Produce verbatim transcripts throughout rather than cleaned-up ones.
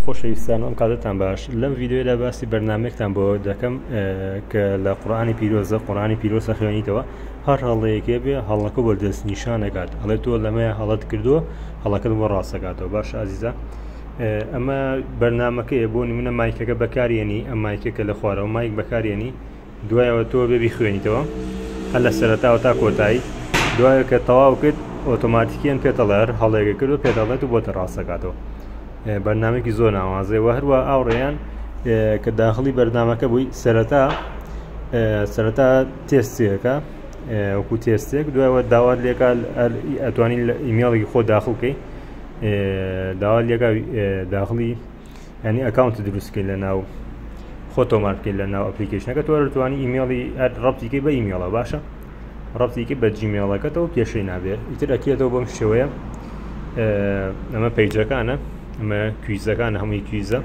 خۆشەویستان، ئەم کاتتان باش. لەم ڤیدیۆدا باسی بەرنامەیەکتان بۆ دەکەم کە لە قورئانی پیرۆزە، قورئانی پیرۆزە خوێنیتەوە، هەر هەڵەیەکێ بێ هەڵەکە بۆ دەست نیشانەکات، ئەڵێ تۆ لەمەیە هەڵەت کردووە، هەڵەکەت بۆ ڕاستەکاتەوە. باش ئازیزە، ئەمە بەرنامەکەیە. بۆ نمونە مایکەکە بەکارێنی، ئەم مایکەکە لە خوارەوە مایک بەکارێنی، دوایەوە تۆ بێ بیخوێنیتەوە هەر لە سەرەتاوە تا کۆتایی. دوایە کە تەواو کرد ئۆتۆماتیکیان پێتەڵێ هەر هەڵەیەکە کردو پێتەڵێت و بۆتە ڕاستەکاتەوە. بەرنامەیەکی زۆر ناوازەیە. و هەروە ئاوڕێیان کە داخلی بەرنامەکە بووی سەرەتا سەرەتا تێستێکە وەکو تێستێک، دوایەوە داوات لێکا ئەتوانین لە ئیمێڵێکی خۆ داخل بکەی، داوات لێکا داخلی ینی account دروستکەی لە ناو خۆ تۆمار بکەیت لە ناو ئەپلیکیشنەکە. تۆ توانی ئیمێڵی ڕەبتیکەی بە ئیمێڵە، باشە ڕەبتیکەی بە جیمێڵەکەتەوە کێشەی نابێت. ئیتر ئەکێتەوە بەم شێوەیە. ئەمە page ەکانە، ئەمە quiz ەکانە، هەمووی quiz ە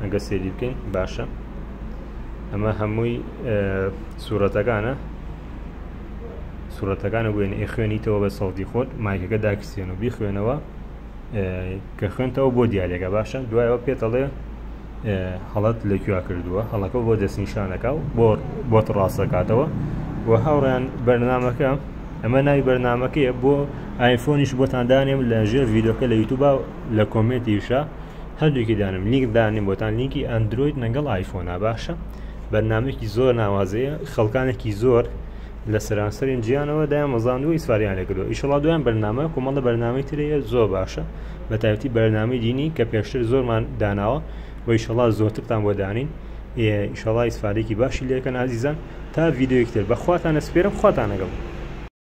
ئەگە سێری بکەین. باشە ئەمە هەمووی سوورەتەکانە، سوورەتەکانە بووێنە ئێخوێنیتەوە بە سەوتی خۆت، مایکەکە داکسێن و بیخوێنەوە کە خوێنتەوە بۆ دیارێکە. باشە دوایەوە پێتەڵێ هەڵەت لەکوێ کردووە، هەڵەکە بۆ دەستنیشانەکە و بۆ بۆت ڕاستەکاتەوە. و هاوڕێیان بەرنامەکە، ئەمە ناوی بەرنامەکەیە، بۆ ئایفۆنیش بۆتان دانێم لە ژێر ڤیدیۆکە لە یوتیوب لە comment یشە هەردووکی دانم، لینک دانیم بۆتان، لینکی ئەندرۆید لەگەڵ ئایفۆنا. باشە بەرنامەیەکی زۆر ناوازەیە، خەڵکانێکی زۆر لە سەرانسەرین جیانەوە دایان مەزاندووە ئیسفاریان لێکردووە. ئیشەڵا دویان بەرنامە کۆمەڵە بەرنامەی ترەیە زۆر باشە، بە تایبەتی بەرنامەی دینی کە پێشتر زۆرمان داناوە و ئیشەڵا زۆرترتان بۆ دانین. ئیشەڵا ئیسفادێکی باشی لێکەن ئازیزان. تا ڤیدیۆیەکتر بەخواتان ئەسپێرم، خواتان لەگەڵ.